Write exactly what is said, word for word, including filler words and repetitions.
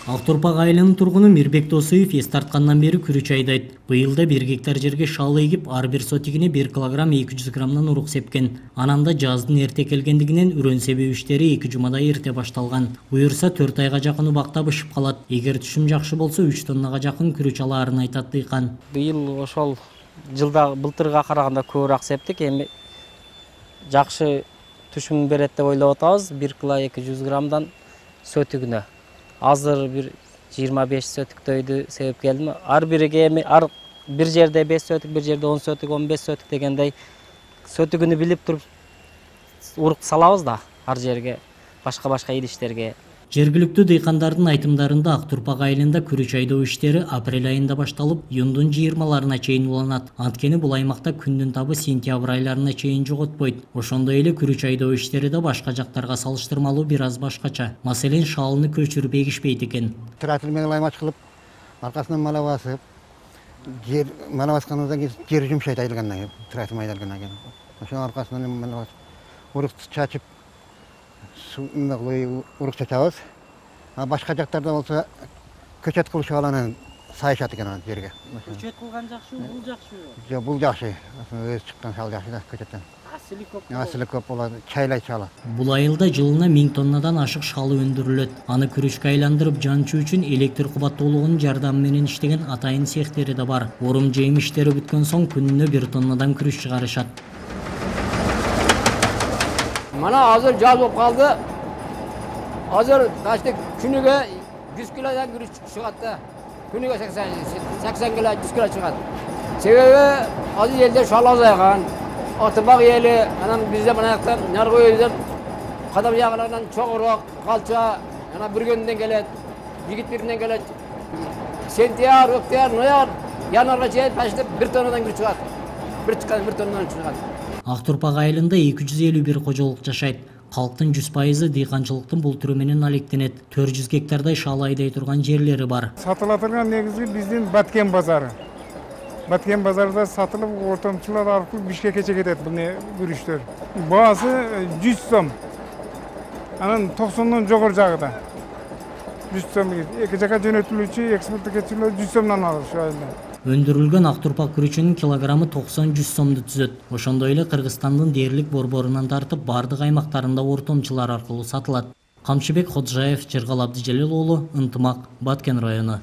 Ақтурпак айылынын тургуну Мирбек Досуев эс тарткандан бери күрүч айдайт. Быйылда бир гектар жерге шалы эгип, ар бир сотигине бир килограмм эки жүз граммдан урук сепкен. Ананда жаздын эрте келгендигинен үрөн себүү иштери эки жумада эрте башталган. Буюрса төрт айга жакын убакта бышып калат. Эгер түшүм жакшы болсо үч тоннага жакын күрүч алаарын айтат дыйкан. Быйыл ошол жылда былтырга караганда көбүрөөк септик. Эми жакшы түшүм берет деп ойлоп атабыз. бир кило эки жүз граммдан сөтүгүнө. Азыр бир жыйырма беш сөтүктөйдү себеп келдим. Ар бириге эми ар бир жерде беш сөтүк, бир жерде он сөтүк, он беш сөтүк дегендей сөтүгүнү билип туруп урук салабыз да ар жерге, башка-башка идиштерге. Жергиликтүү дыйкандардын айтымдарында Ақтурпак айылында күрүч айдоо иштери апрель айында башталып, июндун жыйырмаларына чейин уланат. Анткени бул аймакта күндүн табы сентябрь айларына чейин жоготпойт. Ошондой эле күрүч айдоо иштери да башка жактарга салыштырмалуу бир аз башкача. Маселен, шалыны көчүрүп эгишпейт экен. Трактор менен аймач кылып, аркасынан мала басып, жер мала баскандан кийин жер жумшайт айдалгандан кийин, трактор айдалгандан кийин. Ошонун аркасынан мала басып, урук чачып, урук чачабыз. А башка жактарда болсо көчөт кылышып аланын сайышат экен анан жерге. Көчөт кылган жакшыбы, бул жакшыбы? Жок, бул жакшы. Өзү чыккан шал жакшы да көчөттөн. Асылы көп. Асылы көп болот, чайлай чала. Бул айылда жылына миң тоннадан ашык шалы өндүрүлөт. Аны күрүчкө айландырып жанчуу үчүн электр кубаттуулугунун жардамы менен иштеген атайын цехтери да бар. Орум жейим иштери бүткөн соң күнүнө бир тоннадан күрүч чыгарышат. Mana hazır caz olup kaldı. Hazır kaçtık günüge yüz kilodan gürüç çıkarttı. Günüge seksen, seksen kilo, yüz kilo çıkarttı. Sebebi azı yelde şalaz ayakan. Atıbak yeli, anam bizde bana ayaktan narko yüzden kadam yağlarından çok uğrak, kalça, yana bir günden gelet, yigit birinden gelet. Sentiyar, öktiyar, noyar, yanarga çeyet başlayıp bir tonnadan gürüç çıkarttı. Bir çıkan bir tonnadan çıkarttı. Ақтурпак айылында эки жүз элүү бир кожолук жашайт. Калктын жүз пайызы дыйканчылыктын бул түрү менен алектенет. төрт жүз гектардай шалы айдай турган жерлери бар. Сатыла турган негизи биздин Баткен базары. Баткен базарында сатылып, ортомчулар аркылуу Бишкекке кетет бул күрүчтөр. Баасы жүз сом. Анан токсондон жогору жагыда. жүз сом. Эки жака жөнөтүлүүчү экспорттогучулар жүз сомдон алат ушу айылда. Өндүрүлгөн Ақтурпак күрүчүнүн килограммы токсон жүз сомду түзөт. Ошондой эле Кыргызстандын дээрлик борборунан тартып бардык аймактарында ортомчулар аркылуу сатылат. Камчыбек Ходжаев, Жыргал Абдыжалил уулу, Ынтымак, Баткен району.